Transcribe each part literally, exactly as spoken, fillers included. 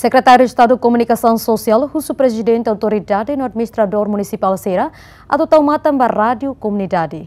Sekretáriu Estadu Komunikasaun Sosiál husu Prezidente Autoridade no Administradór Munisipál sira atu tau matan ba rádiu komunidade.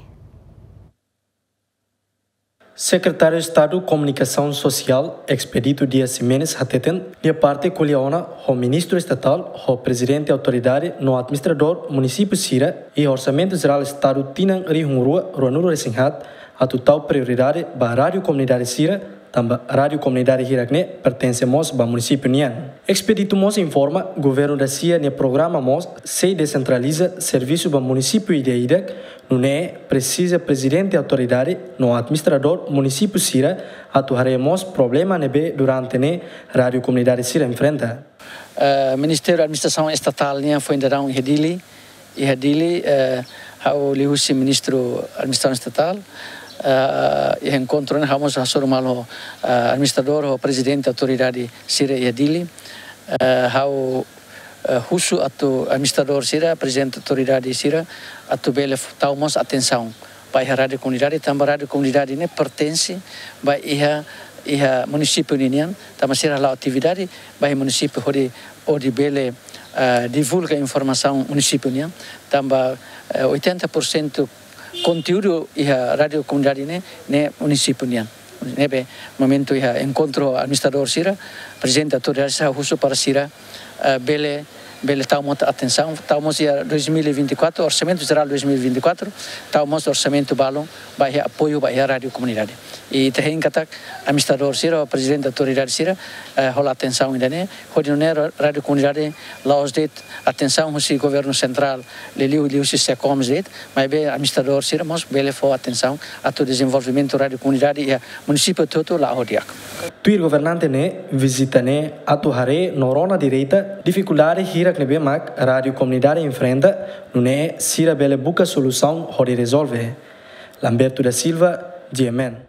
Sekretáriu Estadu Komunikasaun Sosiál, Expedito Dias Ximenes, hateten, nia parte ko'alia ona ho Ministru Estatál, ho Prezidente Autoridade no Administradór Munisípiu sira iha Orsamentu Jerál Estadu tinan rihun rua ruanulu-resin-haat, atu tau prioridade ba rádiu komunidade sira, tanba rádiu komunidade hirak-ne'e pertense mós ba munisípiu nian. Expedito mós informa, governu dasia nia programa mós sei desentraliza servisu ba munisípiu ida-idak, nune'e presiza Prezidente Autoridade no Administradór Munisípiu sira atu haree mós problema ne'ebé durante ne'e rádiu komunidade sira enfrenta. Eh, Ministériu Administrasaun Estatál nian foin daudaun iha Dili, iha Dili, eh, ha'u liuhusi Ministru Administrasaun Estatál, eh, iha enkontru ne'e ha'u mós hasoru malu, eh, administradór ho prezidente autoridade sira iha Dili. Eh, ha'u, eh, husu atu administradór sira, prezidente autoridade sira, atu bele f-, tau mós atensaun ba iha rádiu komunidade, tanba rádiu komunidade ne'e pertense ba iha, iha munisípiu ninian, tanba sira hala'o atividade ba iha munisípiu hodi, hodi bele, eh, divulga informasaun munisípiu nian, tanba, eh, oitenta por cento konteúdu iha rádiu komunidade ne'e, ne'e munisípiu nian. Ne'ebé momentu iha enkontru administradór sira, prezidente autoridade sira husu para sira, eh, bele, bele tau mós atensaun, tau mós iha dois mil e vinte e quatro, Orsamentu Jerál dois mil e vinte e quatro, tau mós orsamentu balun ba iha apoiu ba iha rádiu komunidade. I ita hein katak administradór sira, prezidente autoridade sira, eh, hola atensaun ida-ne'e, hodi nune'e ra-, rádiu komunidade la'ós de'it atensaun husi governu sentrál, liuliu, liuhusi SECOMS de'it, maibé administradór sira mós bele fó atensaun atu dezenvolvimentu rádiu komunidade iha munisípiu hotu-hotu la'o di'ak. Tuir governante ne'e, vizita ne'e atu haree no rona direta difikuldade hirak ne'ebé mak rádiu komunidade enfrenta, nune'e sira bele buka solusaun hodi rezolve. Lamberto da Silva, G M N.